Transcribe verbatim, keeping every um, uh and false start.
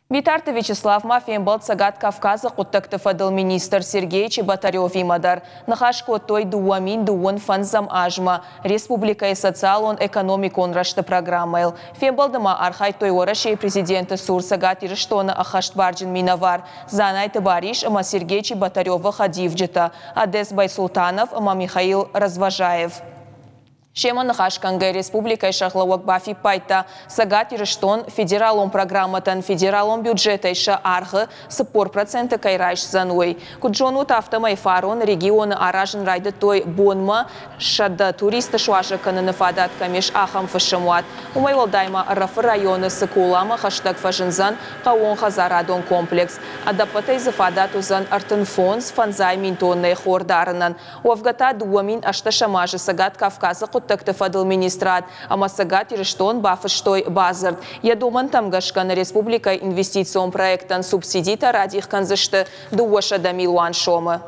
Битарты Вячеслав ма фембӕлд Цӕгат Кавказы хъуыддӕгты фӕдыл министр Сергей Чеботаревимӕ дӕр. Ныхас кодтой дыууӕ мин дыууын фӕндзӕм азмӕ республикӕйы социалон-экономикон рӕзты программӕйыл. Фембӕлды ма архайдтой Уӕрӕсейы президенты цур Цӕгат Ирыстоны ӕххӕстбарджын минӕвар Дзанайты Барис ӕмӕ Сергей Чеботаревы хӕдивджытӕ Одес Байсултанов ӕмӕ Михаил Развожаев. Семӕ ныхасгӕнгӕ республикӕйы сӕргълӕууӕг бафиппайдта, Цӕгат Ирыстон федералон программӕтӕн федералон бюджетӕй сӕ аргъы цыппор проценты кӕй райсдзӕн, уый. Куыд зонут, афтӕмӕй фарон регионы аразын райдыдтой бонмӕ сӕдӕ туристы суазӕг кӕныны фадат кӕм ис, ахӕм фысымуат. Уымӕй уӕлдай ма Ӕрӕфы районы Цыколамӕ хӕстӕг фӕзындзӕн хъӕууонхӕдзарадон комплекс. Ӕдӕппӕтӕй дзы фадат уыдзӕн ӕртын фондз фӕндзай мин тоннӕйы хор дарынӕн. Уӕвгӕ та дыууӕ мин ӕстдӕсӕм азы Цӕгат Кавказы хъуыддӕгты фӕдыл министрад ӕмӕ Цӕгат Ирыстон бафыстой бадзырд. Йӕ домӕнтӕм гӕсгӕ нӕ республикӕйы инвестицион проекттӕн субсидитӕ радих кӕндзысты дыууӕсӕдӕ милуан сомы.